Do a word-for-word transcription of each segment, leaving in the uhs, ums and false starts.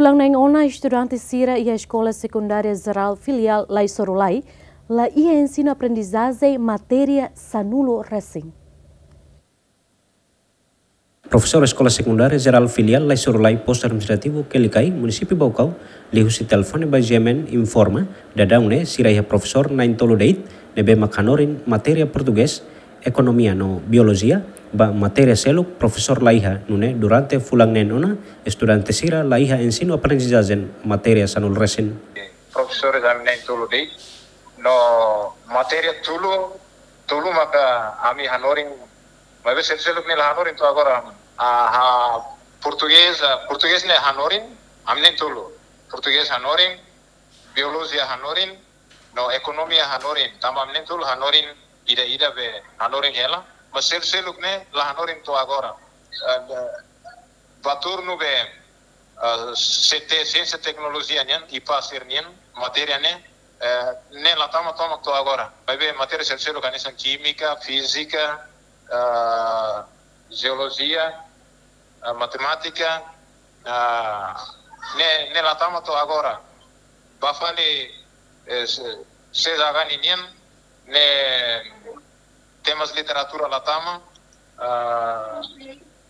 Daudaun neen ona, estudante sira iha Eskola Sekundária Jerál Filiál Laisorulai la iha ensinu-aprendizajen matéria sanulu resin. Profesór Eskola Sekundária Jerál Filiál Laisorulai, Postu Administrativu Kelikai, Munisípiu Baucau, liuhusi telefone ba GMN informa, daudaun ne'e sira iha profesór na'in-tolu de'it, ne'ebé mak hanorin matéria portugés, ekonomia no biolojia. Ba matéria seluk profesór la iha, nune'e durante fulan neen ona, estudante sira la iha ensinu-aprendizajen matéria sanulu resin. Profesores ami na'in-tolu de'it, no matéria tolu, tolu maka ami hanorin, maibé seluk-seluk ne'e la hanorin to'o agora. Ah, ah, portugés, ah, portugés ne'e hanorin, ami na'in-tolu. Portugés hanorin, biolojia hanorin, no ekonomia hanorin, tanba ami na'in-tolu hanorin, ida-ida be hanorin hela, mas seluk-seluk ne'e la hanorin to'o agora. Ah, ba turnu be, ah, C T, Siénsia Teknolojia nian, IPA sira-nian, matéria ne'e, eh, ne'e la tama tomak to'o agora. Maibé matéria seluk-seluk hanesan kímika, fízika, ah, jeolojia, ah, matemátika, ah, ne'e, ne'e la tama to'o agora. Ba fali, eh, se, CZH ninian, ne'e temas literatura la tama, ah,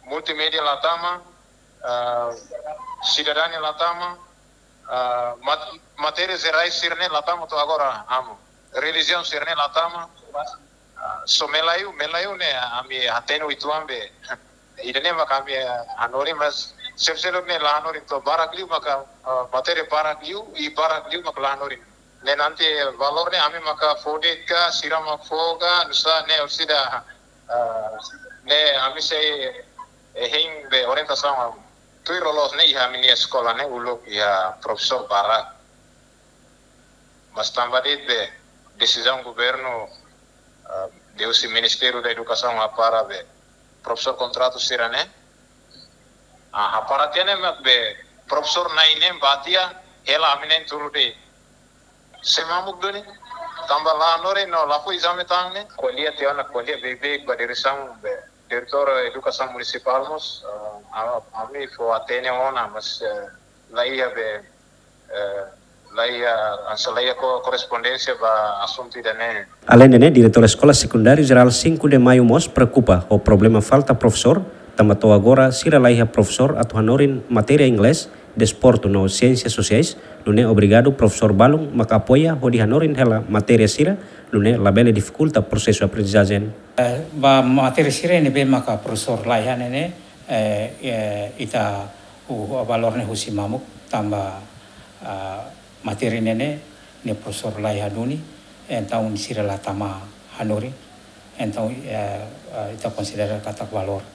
multimédia la tama, ah, sidadania la tama, ah, mat-, matéria jerais sira-ne'e la tama to'o agora, amu. Relijiaun sira-ne'e la tama, ah, só Malaiu, Malaiu ne'e ami hatene uitoan be. Ida-ne'e maka ami, eh, hanorin, mas seluk-seluk ne'e la hanorin to'o barak liu maka, eh, matéria barak liu, i barak liu maka la hanorin. Ne'e nanti valór ne'e ami maka fó de'it ka, sira mak fó ka, nusá ne'e orsida, eh, ne'e ami sei, eh, hein be orientasaun. Tuir loloos ne'e iha ami-nia eskola ne'e uluk iha profesór barak. Mas tanba de'it be desizaun governu, ah, liuhusi Ministériu da Edukasaun hapara be profesór kontratu sira-ne'e. Ah, hapara tiha ne'e mak be profesór na'in neen ba tiha hela ami na'in-tolu de'it. Sei mamuk duni, tanba la hanorin no la fó ezame tan ne'e. Ko'alia tiha ona, ko'alia beibeik ba diresaun be, diretór edukasaun munisipál mós, ah, a-, ami fó hatene ona, mas, eh, la iha be, eh, la iha, hanesan la iha ko-, korrespondénsia ba asuntu ida-ne'e. Aleinde ne'e, diretór Eskola Sekundária Jerál Cinco de Maio mós preokupa ho problema falta profesór, tanba to'o agora sira la iha profesór atu hanorin matéria inglés, desportu no siénsia sosiais, nune'e obrigadu profesór balun mak apoia hodi hanorin hela matéria sira, nune'e labele difikulta prosesu aprendizajen. Eh, ba matéria sira ne'ebé maka profesór la iha ne'e ne'e, eh, eh, ita, uh, valór ne'e husi mamuk tanba, ah, matéria ne'e ne'e, ne'e profesór la iha duni, entaun sira la tama hanorin, entaun, eh, eh, ita konsidera katak valór.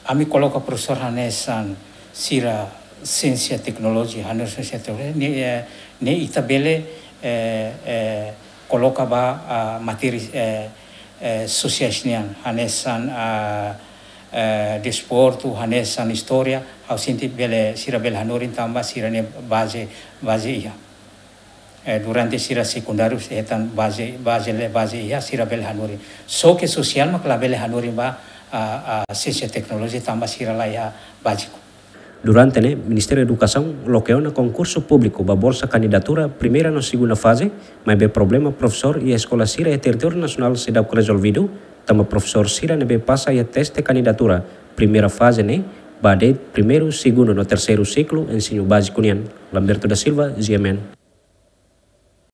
Ami koloka profesór hanesan sira siénsia teknolojia, hanorin siénsia teknolojia, ne'e, eh, ne'e ita bele, eh, eh, koloka ba, ah, matéria, eh, eh, sosiais nian, hanesan, ah, eh, desportu, hanesan istória, ha'u sente bele, sira bele hanorin tanba sira-nia baze, baze iha. Eh, durante sira sekundáriu, hetan baze, baze le, baze iha, sira bele hanorin. Só ke sosiál mak labele hanorin ba, ah, ah, siénsia teknolojia tanba sira la iha báziku. Durante ne'e, Ministériu Edukasaun loke ona konkursu públiku ba bolsa kandidatura primeira no segunda faze, maibé problema profesór iha eskola sira iha territóriu nasionál seidauk rezolvidu, tanba profesór sira ne'ebé pasa iha teste kandidatura primeira faze ne'e, ba de'it primeiru, segundu no terseiru siklu ensinu báziku nian. Lamberto da Silva, GMN.